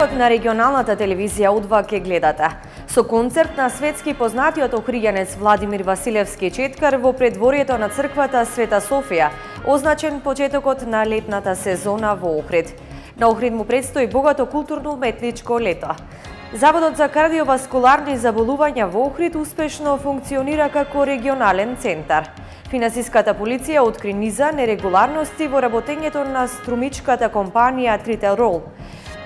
почетокот на регионалната телевизија Удва ке гледате. Со концерт на светски познатиот охриѓанец Владимир Василевски Четкар во предворието на црквата Света Софија, означен почетокот на летната сезона во Охрид. На Охрид му предстои богато културно-уметничко лето. Заводот за кардиоваскуларни заболувања во Охрид успешно функционира како регионален центар. Финансиската полиција откри низа нерегуларности во работењето на струмичката компанија Трителрол.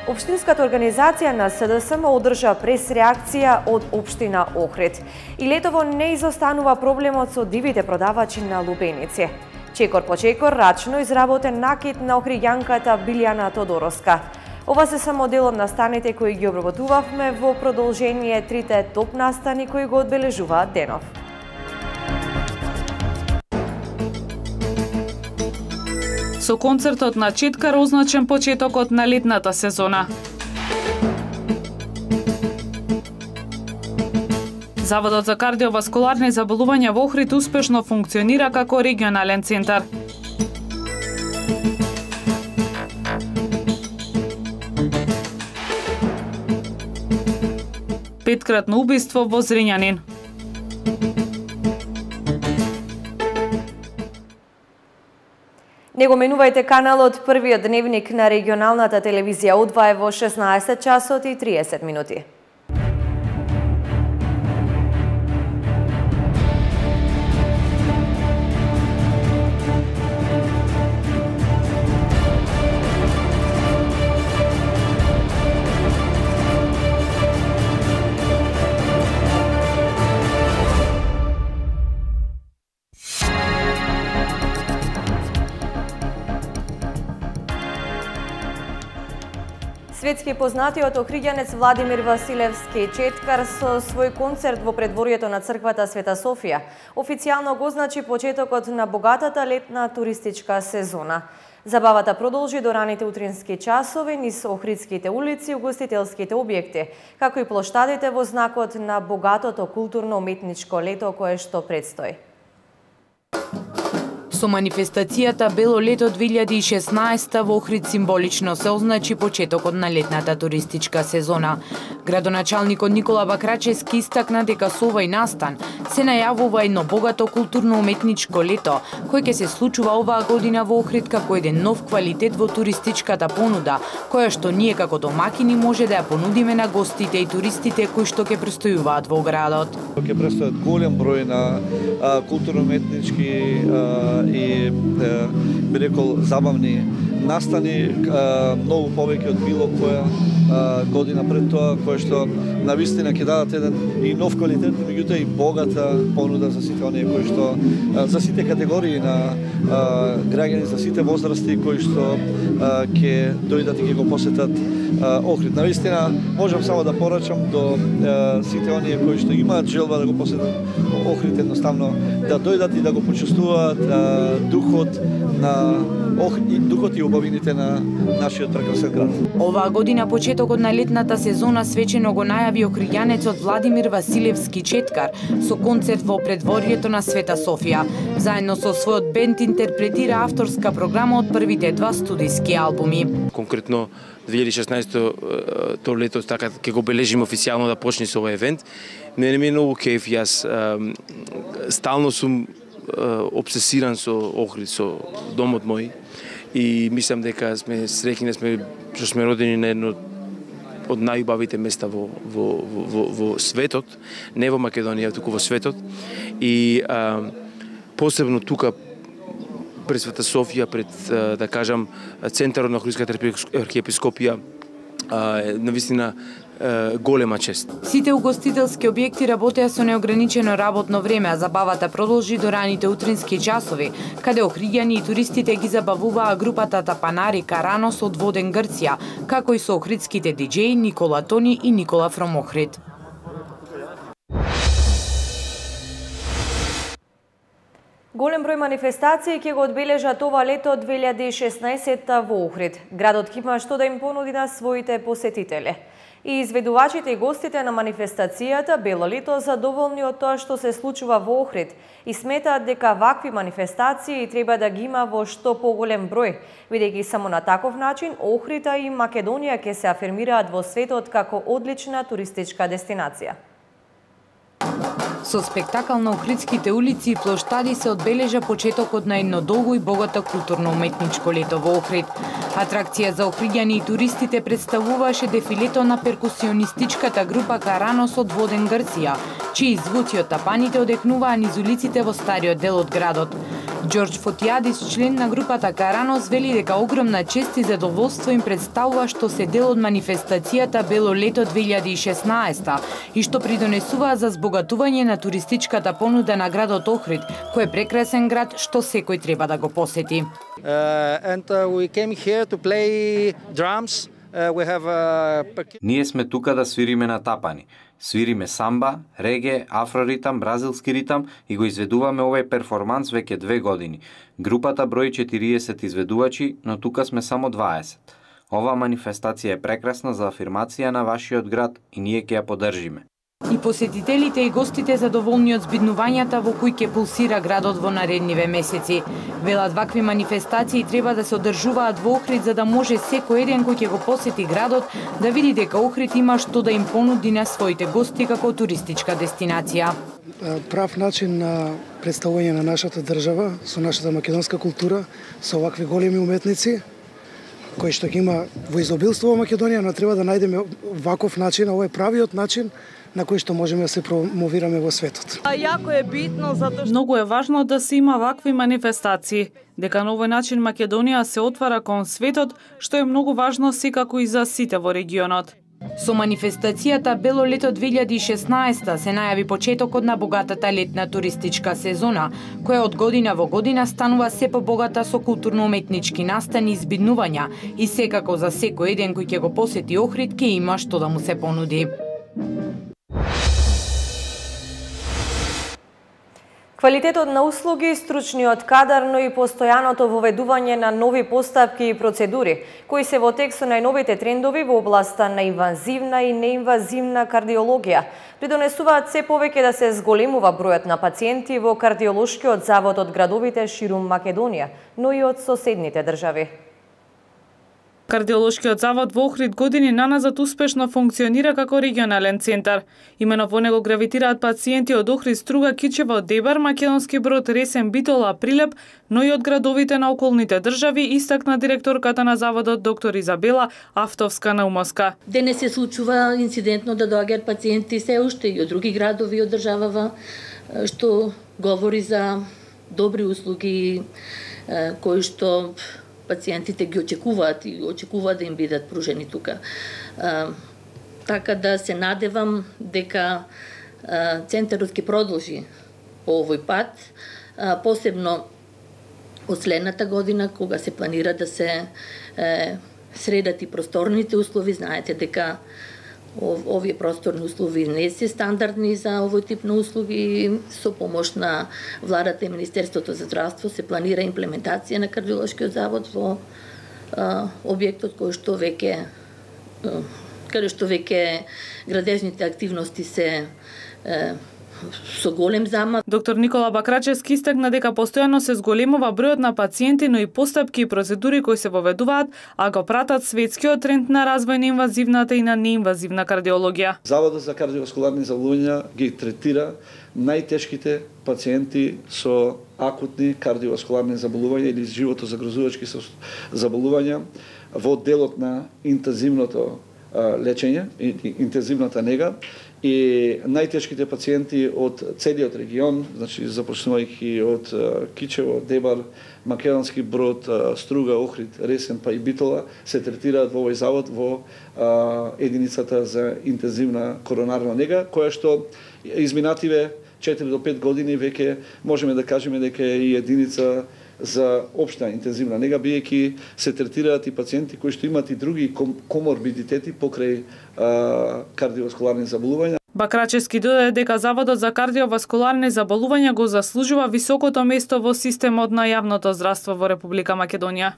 Општинската организација на СДСМ одржа прес-реакција од Општина Охрид. И летово не изостанува проблемот со дивите продавачи на лубеници. Чекор по чекор рачно изработен накид на охриѓанката Билјана Тодороска. Ова се само дел од настаните кои ги обработувавме во продолжение трите топ настани кои го одбележуваат денов. Со концертот на Четкар означен почетокот на летната сезона. Заводот за кардиоваскуларни заболувања во Охрид успешно функционира како регионален центар. Петкратно убиство во Зрењанин. Не го менувајте каналот, првиот дневник на регионалната телевизија Удва е во 16 часот и 30 минути. Светски познатиот охриѓанец Владимир Василевски Четкар со свој концерт во предворието на црквата Света Софија официјално го означи почетокот на богатата летна туристичка сезона. Забавата продолжи до раните утрински часови низ охридските улици и угостителските објекти, како и плоштадите во знакот на богатото културно-уметничко лето кое што предстои. Со манифестацијата Бело лето 2016 во Охрид символично се означи почетокот на летната туристичка сезона. Градоначалникот Никола Бакрачевски истакна дека со овој настан се најавува едно богато културно-уметничко лето, кој ќе се случува оваа година во Охрид како еден нов квалитет во туристичката понуда, која што ние како домакини може да ја понудиме на гостите и туристите кои што ќе престојуваат во градот. Ќе престојат голем број на културно-уметнички и би рекол забавни настани, многу повеќе од било која година пред тоа, која што навистина ќе дадат еден и нов квалитет, меѓутоа и богата понуда за сите оние кои што за сите категории на граѓани, за сите возрасти кои што ќе дојдат и ќе го посетат Охрид. Навистина можам само да порачам до сите оние кои што имаат желба да го посетат Охрид, едноставно да дојдат и да го почувствуваат духот на Охрид, духот и убавините на нашиот прекрасен град. Оваа година почетокот на летната сезона свечено го најави охриѓанецот Владимир Василевски Четкар со концерт во предворието на Света Софија. Заедно со својот бенд интерпретира авторска програма од првите два студиски албуми. Конкретно 2016 то лето така ќе го бележиме официјално да почне со овој евент. Мене ми е многу кеф, јас стално сум обсесиран со Охрид, со домот мој и мислам дека сме среќни што сме родени на едно од најубавите места во светот, не во Македонија, туку во светот. И посебно тука пред Света Софија, пред да кажам центарот на Охридската архиепископија, навистина голема чест. Сите угостителски објекти работеа со неограничено работно време, а забавата продолжи до раните утрински часови, каде охриѓани и туристите ги забавуваа групата Тапанари Каранос од Воден, Грција, како и со охридските диџеи Никола Тони и Никола From Охрид. Голем број манифестации ќе го одбележат ова лето 2016 во Охрид. Градот ќе има што да им понуди на своите посетители. И изведувачите и гостите на манифестацијата Бело лето задоволни од тоа што се случува во Охрид и сметаат дека вакви манифестации треба да ги има во што поголем број, бидејќи само на таков начин Охрида и Македонија ќе се афирмираат во светот како одлична туристичка дестинација. Со спектакл на охридските улици и плоштади се одбележа почетокот на едно долго и богато културно-уметничко лето во Охрид. Атракција за охриѓани и туристите представуваше дефилето на перкусионистичката група Каранос од Воден, Грција, чии звуци од тапаните одекнуваа низ улиците во стариот дел од градот. Ѓорџ Фотијадис, член на групата Каранос, вели дека огромна чест и задоволство им представува што се дел од манифестацијата Бело лето 2016 и што придонесува за збогатување на туристичката понуда на градот Охрид, кој е прекрасен град што секој треба да го посети. We came here to play drums. Ние сме тука да свириме на тапани. Свириме самба, реге, афроритам, бразилски ритам и го изведуваме овој перформанс веќе 2 години. Групата брои 40 изведувачи, но тука сме само 20. Ова манифестација е прекрасна за афирмација на вашиот град и ние ќе ја поддржиме. И посетителите и гостите задоволни од збиднувањата во кои ќе пулсира градот во наредниве месеци. Велат вакви манифестации треба да се одржуваат во Охрид за да може секој еден кој ќе го посети градот да види дека Охрид има што да им понуди на своите гости како туристичка дестинација. Прав начин на представување на нашата држава со нашата македонска култура, со вакви големи уметници кои што ги има во изобилство во Македонија, но треба да најдеме ваков начин, ова е правиот начин на кој што можеме да се промовираме во светот. Јако е битно затоа што Многу е важно да се има вакви манифестации, дека на овој начин Македонија се отвара кон светот, што е многу важно секако и за сите во регионот. Со манифестацијата Бело лето 2016 се најави почетокот на богатата летна туристичка сезона, која од година во година станува се побогата со културно-уметнички настани и збиднувања и секако за секој еден кој ќе го посети Охрид ќе има што да му се понуди. Квалитетот на услуги, стручниот кадар, но и постојаното воведување на нови поставки и процедури, кои се во текст со најновите трендови во областа на инвазивна и неинвазивна кардиологија, придонесуваат се повеќе да се зголемува бројот на пациенти во кардиолошкиот завод од градовите ширум Македонија, но и од соседните држави. Кардиолошкиот завод во Охрид години наназад успешно функционира како регионален центар. Имено во него гравитираат пациенти од Охрид, Струга, Кичево, Дебар, Македонски Брод, Ресен, Битола, Прилеп, но и од градовите на околните држави, истакна директорката на заводот доктор Изабела Автовска-Наумовска. Денес се случува инцидентно да доаѓаат пациенти се уште и од други градови од државава, што говори за добри услуги кои што пациентите ги очекуваат и очекуваат да им бидат пружени тука. Така да се надевам дека центарот ќе продолжи по овој пат, посебно од следната година, кога се планира да се средат и просторните услови. Знаете дека овие просторни услови не се стандардни за овој тип на услуги. Со помош на владата и Министерството за здравство се планира имплементација на кардиолошкиот завод во објектот каде што веќе градежните активности се со голем замах. Доктор Никола Бакрачевски истакна дека постојано се зголемува бројот на пациенти, но и постапки и процедури кои се воведуваат, а го пратат светскиот тренд на развој на инвазивната и на неинвазивна кардиологија. Заводот за кардиоваскуларни заболувања ги третира најтешките пациенти со акутни кардиоваскуларни заболувања или животозагрозувачки заболувања во делот на интензивното лечење и интензивната нега, и најтешките пациенти од целиот регион, значи започнувајќи од Кичево, Дебар, Македонски Брод, Струга, Охрид, Ресен па и Битола, се третираат во овој завод во единицата за интензивна коронарна нега, која што изминативе 4 до 5 години веќе можеме да кажеме дека е и единица за општа интензивна нега, биејќи се третираат и пациенти кои што имаат и други коморбидитети покрај кардиоваскуларни заболувања. Бакрачевски додаде дека Заводот за кардиоваскуларни заболувања го заслужува високото место во системот на јавното здравство во Република Македонија.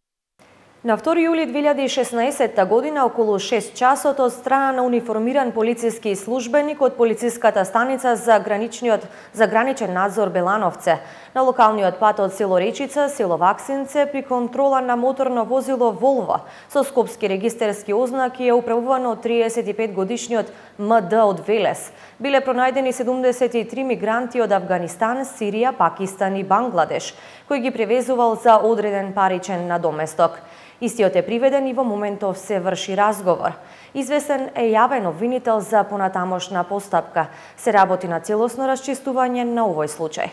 На 2 јули 2016 година, околу 6 часот, од страна на униформиран полициски службеник од полициската станица за граничен надзор Белановце, на локалниот пат од село Речица, село Ваксинце, при контрола на моторно возило Волво со скопски регистерски ознаки е управувано од 35-годишниот МД од Велес. Биле пронајдени 73 мигранти од Авганистан, Сирија, Пакистан и Бангладеш, кој ги превезувал за одреден паричен надоместок. Истиот е приведен и во моментов се врши разговор. Известен е јавен обвинител за понатамошна постапка. Се работи на целосно расчистување на овој случај.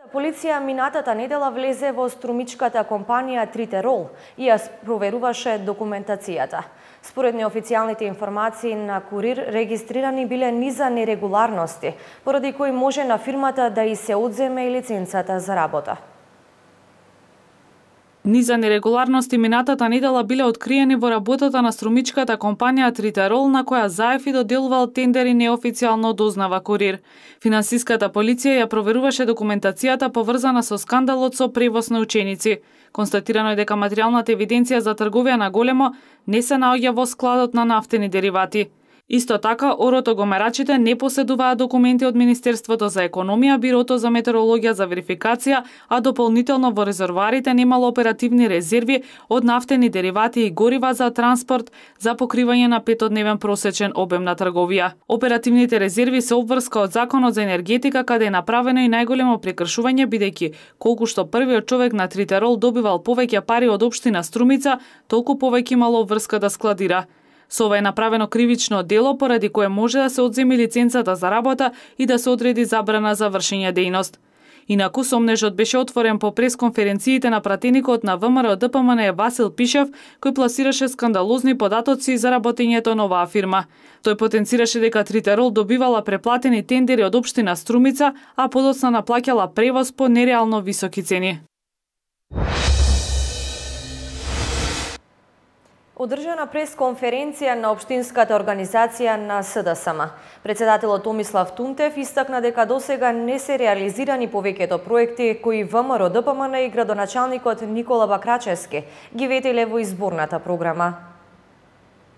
Полиција минатата недела влезе во струмичката компанија Тритерол и ја проверуваше документацијата. Според неофицијалните информации на Курир, регистрирани биле низа нерегуларности, поради кои може на фирмата да и се одземе и лиценцата за работа. Низа нерегуларности минатата недела биле откриени во работата на струмичката компанија Тритерол, на која ЗАЕФ доделувал тендери неофицијално, дознава Курир. Финансиската полиција ја проверуваше документацијата поврзана со скандалот со превоз на ученици. Констатирано е дека материјалната евиденција за трговија на големо не се наоѓа во складот на нафтени деривати. Исто така, оротогомерачите не поседуваат документи од Министерството за економија, Бирото за метеорологија за верификација, а дополнително во резервоарите немало оперативни резерви од нафтени деривати и горива за транспорт за покривање на 5-дневен просечен обем на трговија. Оперативните резерви се обврска од Законот за енергетика, каде е направено и најголемо прекршување, бидејќи колку што првиот човек на Тритерол добивал повеќе пари од општина Струмица, толку повеќе имало обврска да складира. Со ова е направено кривично дело, поради кое може да се одземи лиценцата за работа и да се одреди забрана за вршење дејност. Инаку, сомнежот беше отворен по пресконференциите на пратеникот на ВМРО ДПМН Васил Пишев, кој пласираше скандалозни податоци за работењето на оваа фирма. Тој потенцираше дека Тритерол добивала преплатени тендери од општина Струмица, а подоцна наплаќала превоз по нереално високи цени. Одржана пресконференција на Општинската организација на СДСМ. Председателот Томислав Тунтев истакна дека досега не се реализирани повеќето проекти кои ВМРО ДПМН и градоначалникот Никола Бакрачевски ги ветеле во изборната програма.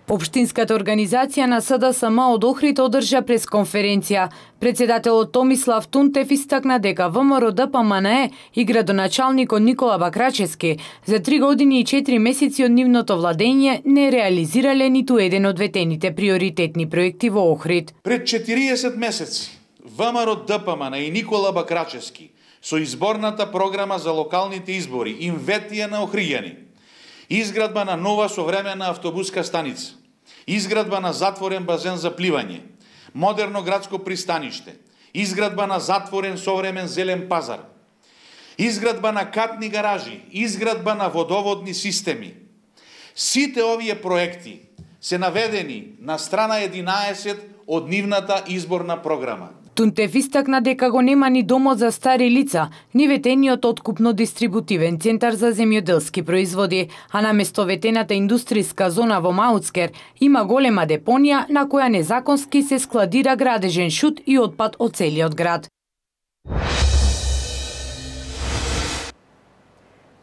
Општинската организација на СДСМ од Охрид одржа пресконференција. Председателот Томислав Тунтев истакна дека ВМРО ДПМН и градоначалникот Никола Бакрачевски за 3 години и 4 месеци од нивното владење не реализирале ниту еден од ветените приоритетни проекти во Охрид. Пред 40 месеци ВМРО ДПМН и Никола Бакрачевски со изборната програма за локалните избори им ветија на охриѓани: изградба на нова современа автобуска станица, изградба на затворен базен за пливање, модерно градско пристаниште, изградба на затворен современ зелен пазар, изградба на катни гаражи, изградба на водоводни системи. Сите овие проекти се наведени на страна 11 од нивната изборна програма. Тунтев истакна дека го нема ни домот за стари лица, ни ветениот откупно-дистрибутивен центар за земјоделски производи, а наместо ветената индустријска зона во Мауцкер има голема депонија на која незаконски се складира градежен шут и отпад од целиот град.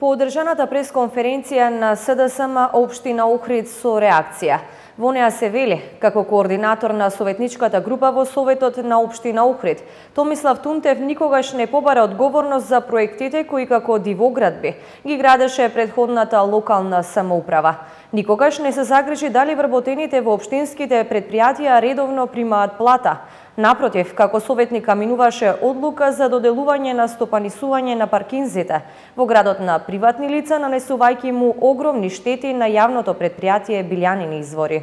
По одржаната пресконференција на СДСМ Општина Охрид со реакција. Во неа се вели, како координатор на советничката група во Советот на Општина Охрид, Томислав Тунтев никогаш не побара одговорност за проектите кои како дивоградби ги градеше предходната локална самоуправа. Никогаш не се загрижи дали вработените во општинските предпријатија редовно примаат плата. Напротив, како советник каминуваше одлука за доделување на стопанисување на паркинзите во градот на приватни лица, нанесувајќи му огромни штети на јавното предпријатие Билјанини извори.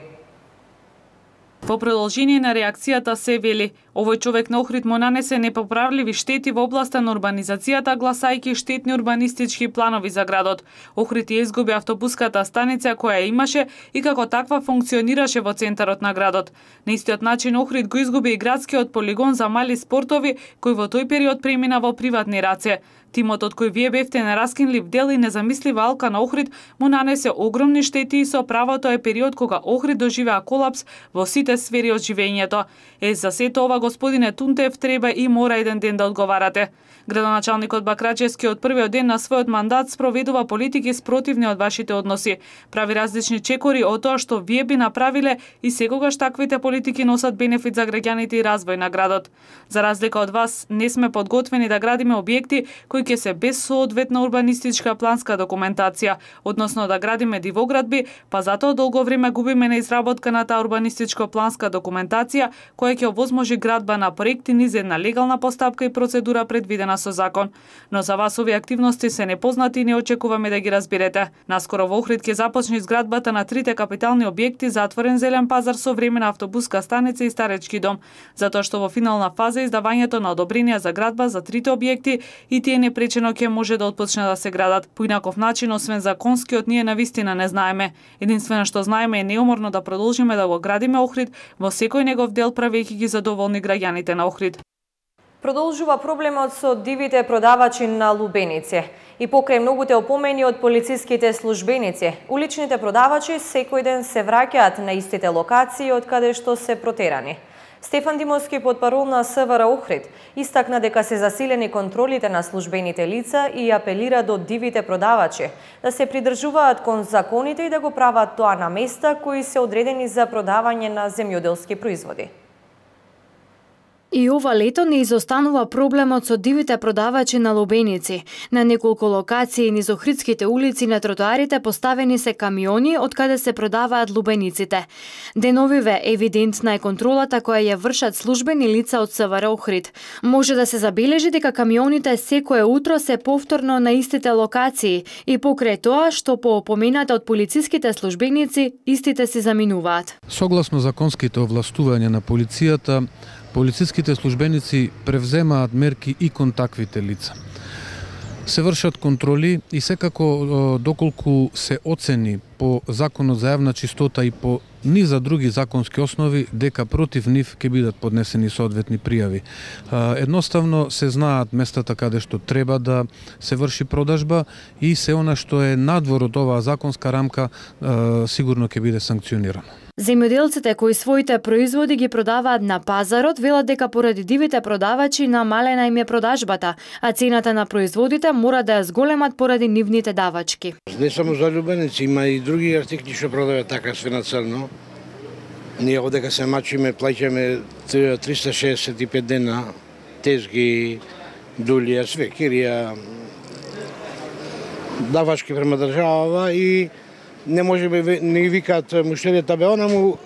Во продолжение на реакцијата се вели, овој човек на Охрид му нанесе непоправливи штети во областа на урбанизацијата, гласајќи штетни урбанистички планови за градот. Охрид ја изгуби автобуската станица која имаше и како таква функционираше во центарот на градот. На истиот начин Охрид го изгуби и градскиот полигон за мали спортови, кој во тој период премина во приватни раце. Тимот од кој вие бевте на раскинлив дел и незамислива алка на Охрид му нанесе огромни штети и со правото е период кога Охрид доживеа колапс во сите другите сфери од живењето. За сето ова, господине Тунтев, треба и мора еден ден да одговарате. Градоначалникот Бакрачевски од првиот ден на својот мандат спроведува политики спротивни од вашите односи. Прави различни чекори од тоа што вие би направиле и секогаш таквите политики носат бенефит за граѓаните и развој на градот. За разлика од вас, не сме подготвени да градиме објекти кои ќе се без соодветна урбанистичка планска документација, односно да градиме дивоградби, па затоа долго време губиме на изработка на таа урбанистичко-планска документација која ќе овозможи градба на проекти низ една легална постапка и процедура предвидена со закон. Но за вас овие активности се непознати и не очекуваме да ги разберете. Наскоро во Охрид ќе започне изградбата на 3 капитални објекти за отворен зелен пазар со времена автобуска станица и старечки дом, затоа што во финална фаза издавањето на одобренија за градба за 3 објекти и тие непречено ќе може да отпочне да се градат. По инаков начин, освен законскиот, ние навистина не знаеме. Единствено што знаеме е неуморно да продолжиме да го градиме Охрид во секој негов дел, правејќи ги задоволни граѓаните на Охрид. Продолжува проблемот со дивите продавачи на лубеници. И покрај многуте опомени од полициските службеници, уличните продавачи секој ден се враќаат на истите локации од каде што се протерани. Стефан Димовски, потпарол на СВР Охрид, истакна дека се засилени контролите на службените лица и апелира до дивите продавачи да се придржуваат кон законите и да го прават тоа на места кои се одредени за продавање на земјоделски производи. И ова лето не изостанува проблемот со дивите продавачи на лубеници. На неколку локации низ охридските улици на тротоарите поставени се камиони од каде се продаваат лубениците. Деновиве евидентна е контролата која ја вршат службени лица од СВР Охрид. Може да се забележи дека камионите секое утро се повторно на истите локации и покрај тоа што по опомената од полициските службеници истите се заминуваат. Согласно законските овластувања на полицијата, полициските службеници превземаат мерки и кон таквите лица. Се вршат контроли и секако доколку се оцени по Законот за јавна чистота и по низа други законски основи дека против нив ќе бидат поднесени соодветни пријави. Едноставно се знаат местата каде што треба да се врши продажба и се она што е надвор од оваа законска рамка сигурно ќе биде санкционирано. Земјоделците кои своите производи ги продаваат на пазарот велат дека поради дивите продавачи намалена им е продажбата, а цената на производите мора да ја зголемат поради нивните давачки. Не само за лубеници, има и други артикли што продаваат така све на црно. Ние одека се мачиме, плаќаме 365 дена тезги, дулија, све, кирија, давачки према држава и не можеме, не викаат муштеријата, бе, она му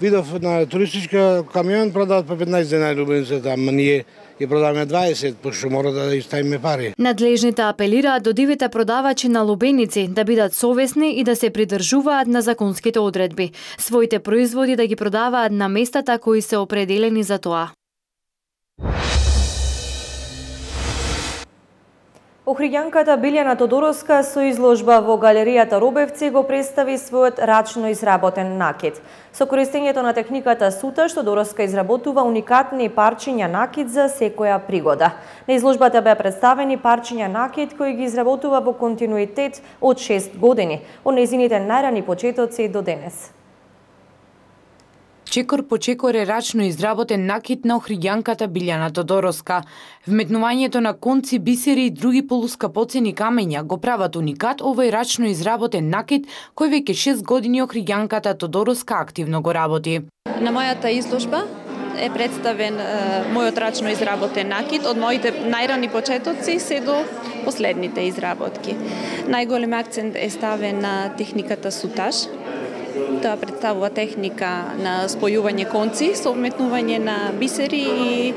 видов на туристичка камион продават по 15 денари лубеницата, ама ние ги продаваме 20, пошто мора да иставиме пари. Надлежните апелираат до дивите продавачи на лубеници да бидат совесни и да се придржуваат на законските одредби. Своите производи да ги продаваат на местата кои се определени за тоа. Охриѓанката Билјана Тодороска со изложба во галеријата Робевци го представи својот рачно изработен накид. Со користењето на техниката суташ, Тодороска изработува уникатни парчиња накид за секоја пригода. На изложбата беа представени парчиња накид кои ги изработува во континуитет од 6 години, од нејзините најрани почетоци до денес. Чекор по чекор е рачно изработен накид на охриѓанката Билјана Тодороска. Вметнувањето на конци, бисери и други полускапоцени камења го прават уникат овој рачно изработен накид кој веќе 6 години охриѓанката Тодороска активно го работи. На мојата изложба е представен мојот рачно изработен накид од моите најрани почетоци се до последните изработки. Најголем акцент е ставен на техниката сутаж. Тоа представува техника на спојување конци со вметнување на бисери и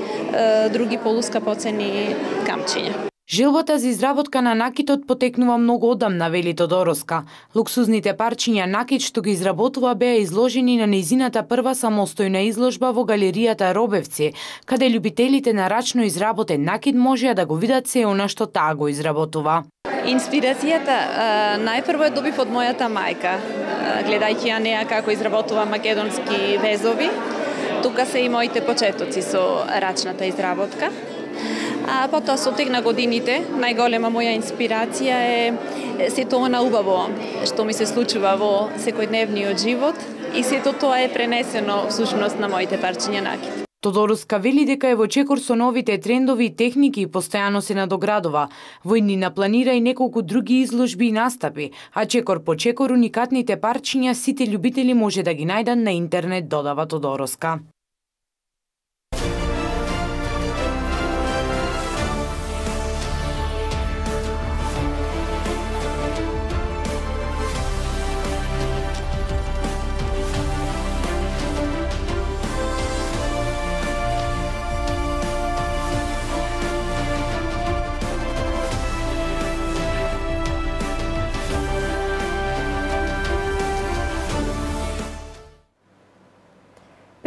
други полускапоцени камчиња. Желбата за изработка на накитот потекнува многу одамна, вели Тодороска. Луксузните парчиња накит што ги изработува беа изложени на нејзината прва самостојна изложба во галеријата Робевци, каде љубителите на рачно изработен накит можеа да го видат се она што таа го изработува. Инспирацијата најпрво ја добив од мојата мајка, гледајќи ја неа како изработува македонски везови. Тука се и моите почетоци со рачната изработка. А потоа со тек на годините, најголема моја инспирација е сето она убаво што ми се случува во секојдневниот живот и сето тоа е пренесено всушност на моите парчиња накид. Тодороска вели дека е во чекор со новите трендови и техники и постојано се надоградува. Во иднина планира и неколку други изложби и настапи, а чекор по чекор уникатните парчиња сите љубители може да ги најдат на интернет, додава Тодороска.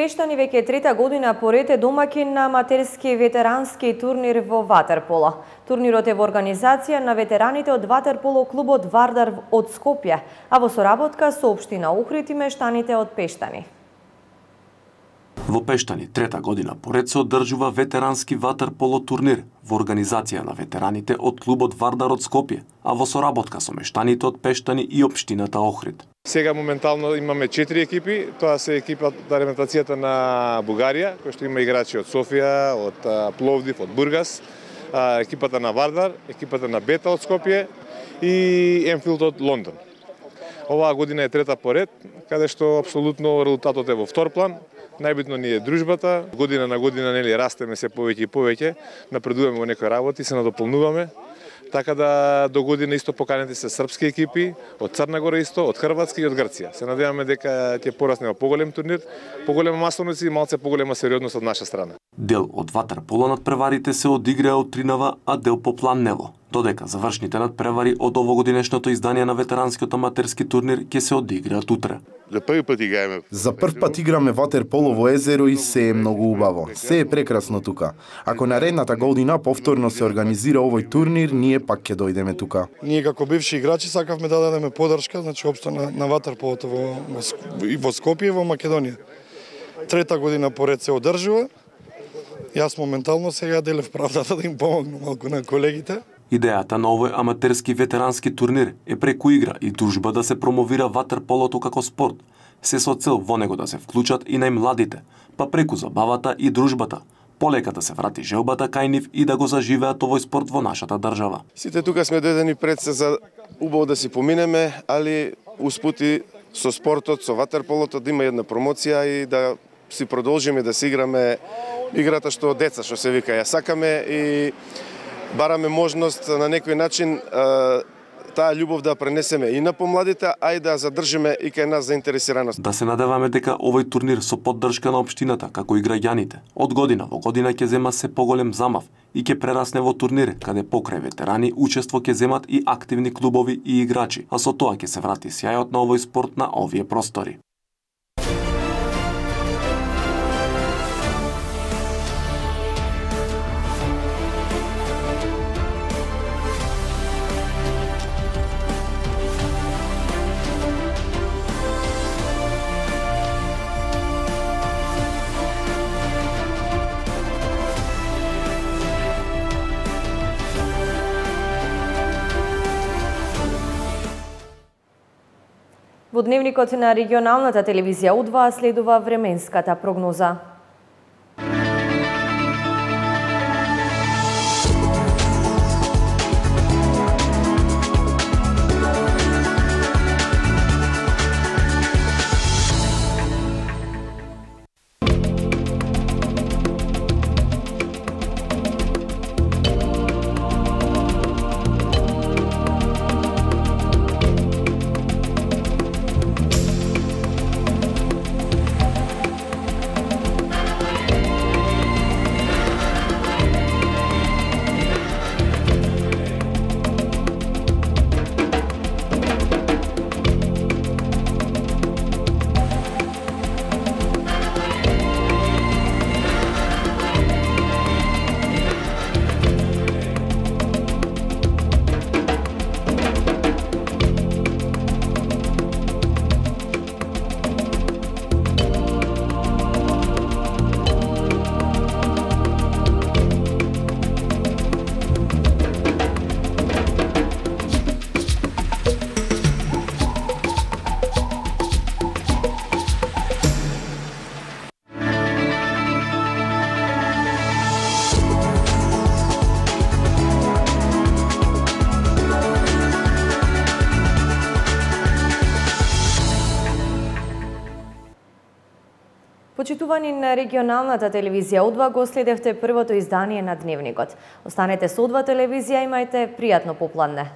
Пештани веќе трета година поред е домаќин на аматерски ветерански турнир во ватерполо. Турнирот е во организација на ветераните од ватерполо клубот Вардар од Скопје, а во соработка со општина Охрид и мештаните од Пештани. Во Пештани трета година поред се одржува ветерански ватерполо турнир во организација на ветераните од клубот Вардар од Скопје, а во соработка со мештаните од Пештани и општината Охрид. Сега моментално имаме 4 екипи, тоа се екипата ремонтацијата на Бугарија, кој што има играчи од Софија, од Пловдив, од Бургас, екипата на Вардар, екипата на Бета од Скопје и Енфилд од Лондон. Оваа година е трета поред, каде што апсолутно резултатот е во втор план. Најбитно ни е дружбата, година на година нели растеме се повеќе и повеќе, напредуваме во некои работи, се надополнуваме. Така да до година исто поканети се српски екипи од Црна Гора исто, од Хрватска и од Грција. Се надеваме дека ќе порасне во поголем турнир, поголема масовност и малце поголема сериозност од наша страна. Дел од ватерполо надпреварите се одиграа од Тринава, а дел по Планнево. Додека завршните надпревари од овогодинешното издание на ветеранскиот аматерски турнир ќе се одиграат утре. За прв пат играме ватерполо во езеро и се е многу убаво. Се е прекрасно тука. Ако наредната година повторно се организира овој турнир, ние пак ќе дојдеме тука. Ние како бивши играчи сакавме да дадеме подршка, значи општо на ватерполото во Скопје и во Македонија. Трета година поред се одржува. Јас моментално сега делев правдата да им помогнам малку на колегите. Идејата на овој аматерски ветерански турнир е преку игра и дружба да се промовира ватерполото како спорт, се со цел во него да се вклучат и најмладите, па преку забавата и дружбата, полека да се врати желбата кај нив и да го заживеат овој спорт во нашата држава. Сите тука сме дојдени пред се за убаво да си поминеме, али успути со спортот, со ватерполото да има една промоција и да си продолжиме да си играме играта што деца, што се вика, ја сакаме и бараме можност на некој начин таа љубов да пренесеме и на помладите, а и да задржиме и кај нас заинтересираност. Да се надеваме дека овој турнир со поддршка на општината, како и граѓаните, од година во година ќе зема се поголем замав и ќе прерасне во турнир каде покрај ветерани учество ќе земат и активни клубови и играчи, а со тоа ќе се врати сјајот на овој спорт на овие простори. Во дневникот на регионалната телевизија У2 следува временската прогноза. Почитувани на регионалната телевизија О2 го следевте првото издание на Дневникот. Останете со О2 телевизија, имајте пријатно попладне.